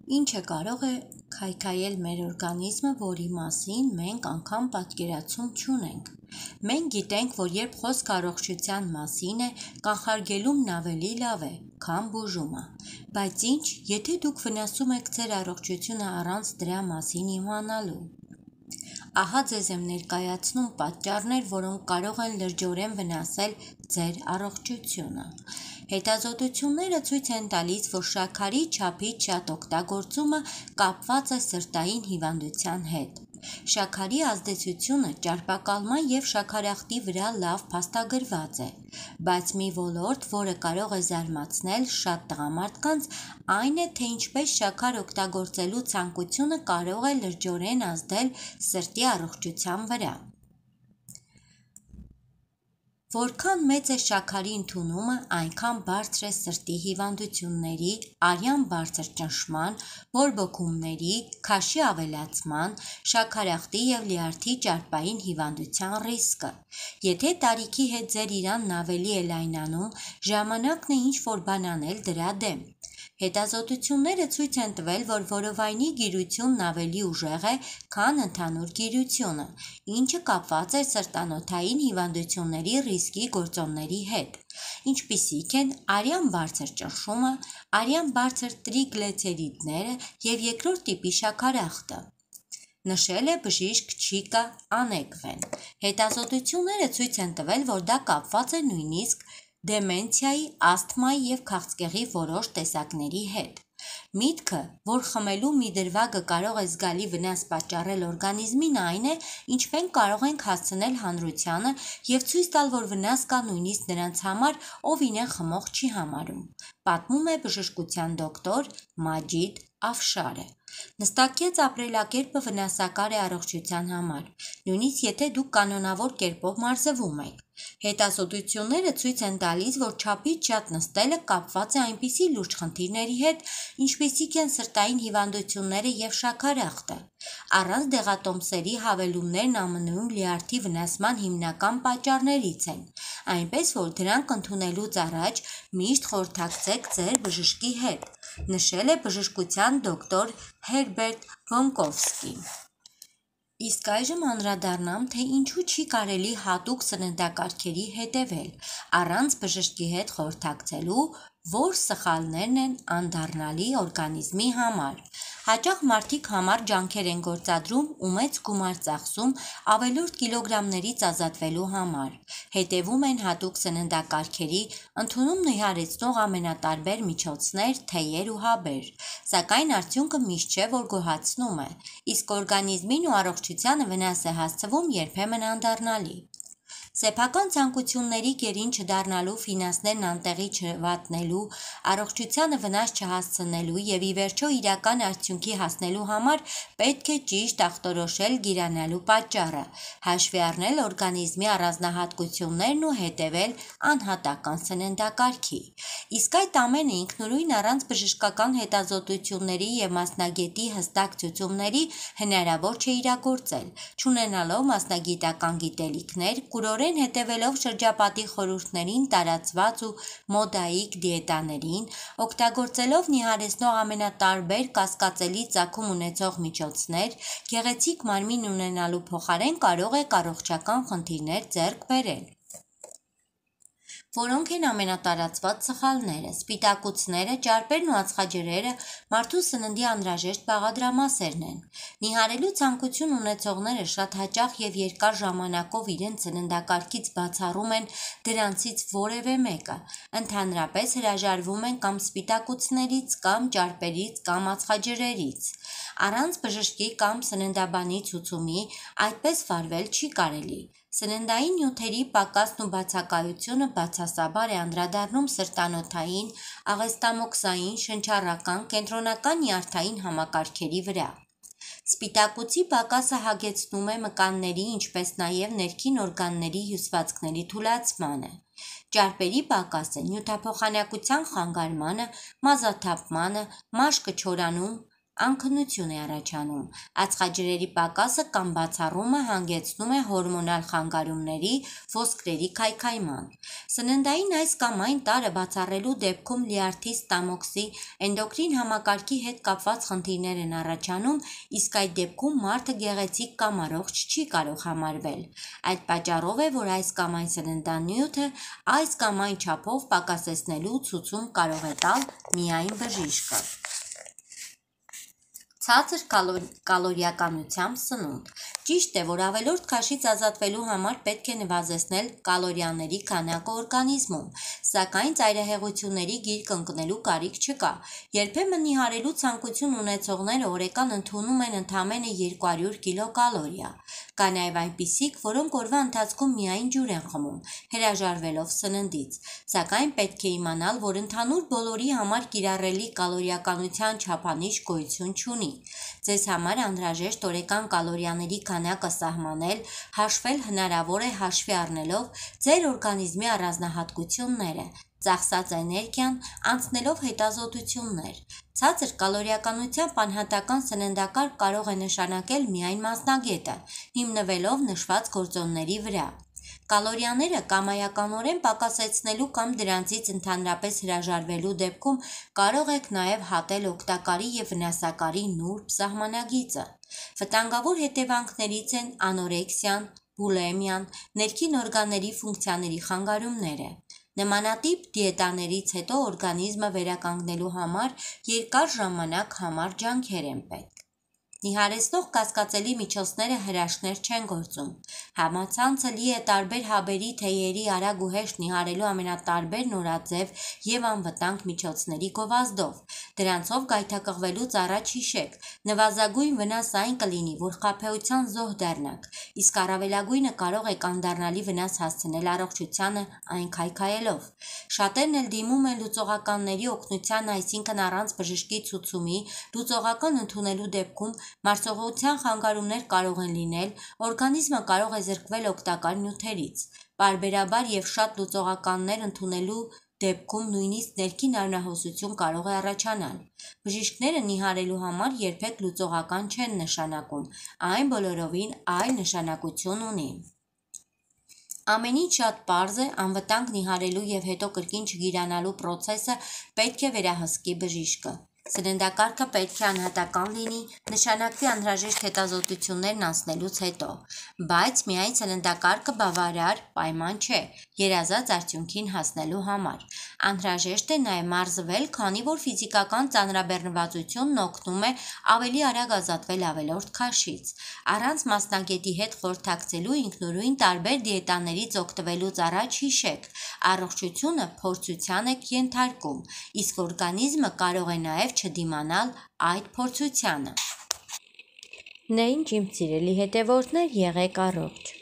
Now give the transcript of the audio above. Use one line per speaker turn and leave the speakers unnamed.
Ինչը կարող է քայքայել մեր օրգանիզմը, որի մասին մենք անգամ պատկերացում չունենք։ Մենք գիտենք, որ երբ խոսքը առողջության մասին է, կանխարգելումն ավելի լավ է, քան բուժումը։ Բայց ինչ, եթե դուք վնասում եք ձեր առողջությունը առանց դրա մասին իմանալու։ Ահա ձեզ եմ ներկայացնում պատճառներ, որոնք կարող են լրջորեն վնասել ձեր առողջությունը։ Հետազոտությունները ցույց են տալիս, որ շաքարի չափից շատ օգտագործումը կապված է սրտային հիվանդության հետ։ Շաքարի ազդեցությունը ճարպակալման և շաքարախտի վրա լավ փաստագրված է, բայց մի ոլորտ, որը կարող է զարմացնել շատ տղամարդկանց, այն է, թե ինչպես շաքար օգտագործելու ցանկությունը կարող է լրջորեն ազդել սրտի առողջության վրա։ Որքան մեծ է շաքարի ընդունումը, այնքան բարձր է սրտի հիվանդությունների, արյան բարձր ճնշման, բորբոքումների, քաշի ավելացման, շաքարախտի և լյարդի ճարպային հիվանդության ռիսկը։ Եթե տարիքի հետ ձեր իրանն ավելի է լայնանում, ժամանակն է ինչ-որ բան անել դրա դեմ։ Հետազոտությունները ցույց են տվել, որ որովայնի գիրությունն ավելի ուժեղ է, քան ընդհանուր գիրությունը, ինչը կապված է սրտանոթային հիվանդությունների ռիսկի գործոնների հետ, ինչպիսիք են արյան բարձր ճնշումը, արյան բարձր տրիգլիցերիդները և երկրորդ տիպի շաքարախտը, նշել է բժիշկ Չիկա Անեկվեն։ Հետազոտությունները ցույց են տվել, որ դա կապված է նույնիսկ դեմենցիայի, ասթմայի և քաղցկեղի որոշ տեսակների հետ։ Միտքը, որ խմելու մի դրվագը կարող է զգալի վնաս պատճառել օրգանիզմին, այն է, ինչ մենք կարող ենք հասցնել հանրությանը և ցույց տալ, որ վնաս կա նույնիսկ նրանց համար, ով իրեն խմող չի համարում, պատմում է բժշկության դոկտոր Մաջիդ Աֆշարը։ Նստակյաց ապրելակերպը վնասակար է առողջության համար, նույնիսկ եթե դուք կանոնավոր կերպով մարզվում եք։ Հետազոտությունները ցույց են տալիս, որ չափից շատ նստելը կապված է այնպիսի լուրջ խնդիրների հետ, ինչպիսիք են սրտային հիվանդությունները և շաքարախտը։ Առանց դեղատոմսերի հավելումներն ԱՄՆ-ում լյարդի վնասման հիմնական պատճառներից են, այնպես որ դրանք ընդունելուց առաջ միշտ խորհրդակցեք ձեր բժշկի հետ, նշել է բժշկության դոկտոր Հերբերտ Վոնկովսկին։ Իսկ այժմ անդրադառնամ, թե ինչու չի կարելի հատուկ սննդակարգերի հետևել, առանց բժշկի հետ խորհրդակցելու, որ սխալներն են անդառնալի օրգանիզմի համար։ Հաճախ մարդիկ համառ ջանքեր են գործադրում ու մեծ գումար ծախսում ավելորդ կիլոգրամներից ազատվելու համար, հետևում են հատուկ սննդակարգերի, ընդունում նիհարեցնող ամենատարբեր միջոցներ, թեյեր ու հաբեր, սակայն արդյունքը միշտ չէ, որ գոհացնում է, իսկ օրգանիզմին ու առողջությանը վնաս է հասցվում երբեմն անդառնալի։ Սեփական ցանկությունների գերին չդառնալու, ֆինանսներն անտեղի չվատնելու, առողջությանը վնաս չհասցնելու և ի վերջո իրական արդյունքի հասնելու համար պետք է ճիշտ ախտորոշել գիրանալու պատճառը, հաշվի առնել օրգանիզմի առանձնահատկություններն ու հետևել անհատական սննդակարգի։ Իսկ այդ ամենը ինքնուրույն առանց բժշկական հետազոտությունների և մասնագետի հստակ ցուցումների հնարավոր չէ իրագործել, չունենալով մասնագիտական գիտելիքներ, կուրորեն հետևելով շրջապատի խորհուրդներին տարածված ու մոդայիկ դիետաներին, օգտագործելով նիհարեցնող ամենատարբեր կասկածելի ծագում ունեցող միջոցներ, գեղեցիկ մարմին ունենալու փոխարեն կարող եք առողջական խնդիրներ ձեռք բերել։ Որոնք են ամենատարածված սխալները։ Սպիտակուցները, ճարպերն ու ածխաջրերը մարդու սննդի անհրաժեշտ բաղադրամասերն են։ Նիհարելու ցանկություն ունեցողները շատ հաճախ և երկար ժամանակով իրենց սննդակարգից բացառում են դրանցից որևէ մեկը, ընդհանրապես հրաժարվում են կամ սպիտակուցներից, կամ ճարպերից, կամ ածխաջրերից։ Առանց բժշկի կամ սննդաբանի ցուցումի այդպես վարվել չի կարելի։ Սննդային նյութերի պակասն ու բացակայությունը բացասաբար է անդրադառնում սրտանոթային, աղեստամոքսային, շնչառական, կենտրոնական նյարդային համակարգերի վրա։ Սպիտակուցի պակասը հագեցնում է մկանների, ինչպես նաև ներքին օրգանների հյուսվածքների թուլացմանը։ Ճարպերի պակասը նյութափոխանակության խանգարմանը, մազաթափմանը, մաշկը չորանում, անքնություն է առաջանում։ Ածխաջրերի պակասը կամ բացառումը հանգեցնում է հորմոնալ խանգարումների, ոսկրերի քայքայման։ Սննդային այս կամ այն տարրը բացառելու դեպքում լյարդի, ստամոքսի, էնդոկրին համակարգի հետ կապված խնդիրներ են առաջանում, իսկ այդ դեպքում մարդը գեղեցիկ կամ առողջ չի կարող համարվել։ Այդ պատճառով է, որ այս կամ այն սննդանյութը այս կամ այն չափով պակասեցնելու ցուցում կարող է տալ միայն բժիշկը։ Ցածր կալորիականությամբ սնունդ։ Ճիշտ է, որ ավելորդ քաշից ազատվելու համար պետք է նվազեցնել կալորիաների քանակը օրգանիզմում, սակայն ծայրահեղությունների գիրկ ընկնելու կարիք չկա։ Երբեմն նիհարելու ցանկություն ունեցողները օրական ընդունում են ընդամենը 200 կիլոկալորիա։ Կա նաև այնպիսիք, որոնք օրվա ընթացքում միայն ջուր են խմում, հրաժարվելով սննդից։ Սակայն պետք է իմանալ, որ ընդհանուր բոլորի համար կիրառելի կալորիականության չափանիշ գոյություն չունի։ Ձեզ համար անհրաժեշտ օրական կալորիաների քանակը սահմանել, հաշվել հնարավոր է հաշվի առնելով ձեր օրգանիզմի առանձնահատկությունները, ծախսած էներգիան, անցնելով հետազոտություններ։ Ցածր կալորիականությամբ անհատական սննդակարգ կարող է նշանակել միայն մասնագետը, հիմնվելով նշված գործոնների վրա։ Կալորիաները կամայականորեն պակասեցնելու կամ դրանցից ընդհանրապես հրաժարվելու դեպքում կարող եք նաև հատել օգտակարի և վնասակարի նուրբ սահմանագիծը։ Վտանգավոր հետևանքներից են անորեքսիան, բուլիմիան, ներքին օրգանների ֆունկցիաների խանգարումները։ Նմանատիպ դիետաներից հետո օրգանիզմը վերականգնելու համար երկար ժամանակ համառ ջանքեր են պետք։ Նիհարեցնող կասկածելի միջոցները հրաշքներ չեն գործում։ Համացանցը լի է տարբեր հաբերի, թեյերի, արագ ու հեշտ նիհարելու ամենատարբեր նորաձև և անվտանգ միջոցների գովազդով։ Դրանցով գայթակղվելուց առաջ հիշեք, նվազագույն վնաս այն կլինի, որ խաբեության զոհ դառնաք, իսկ առավելագույնը կարող եք անդառնալի վնաս հասցնել առողջությանը այն քայքայելով։ Շատերն էլ դիմում են լուծողականների օգնության, այսինքն առանց բժշկի ցուցումի լուծողական ընդունելու դեպքում մարսողության խանգարումներ կարող են լինել, օրգանիզմը կարող է զրկվել օգտակար նյութերից։ Պարբերաբար և շատ լուծողականներ ընդունելու դեպքում նույնիսկ ներքին անհոսություն կարող է առաջանալ։ Բժիշկները նիհարելու համար երբեք լուծողական չեն նշանակում, այն բոլորովին այլ նշանակություն ունի։ Ամեն ինչ շատ պարզ է, անվտանգ նիհարելու և հետո կրկին չգիրանալու պրոցեսը պետք է վերահսկի բժիշկը։ Սննդակարգը պետք է անհատական լինի, նշանակվի անհրաժեշտ հետազոտություններն անցնելուց հետո, բայց միայն սննդակարգը բավարար պայման չէ երազած արդյունքին հասնելու համար։ Անհրաժեշտ է նաև մարզվել, քանի որ ֆիզիկական ծանրաբեռնվածությունն օգնում է ավելի արագ ազատվել ավելորդ քաշից։ Առանց մասնագետի հետ խորհրդակցելու ինքնուրույն տարբեր դիետաներից օգտվելուց առաջ հիշեք, առողջությունը փորձության եք ենթարկում, իսկ օրգանիզմը կարող է նաև չդիմանալ այդ փորձությանը։ Նեյն ջիմ սիրելի հետևորդներ, եղեք առողջ։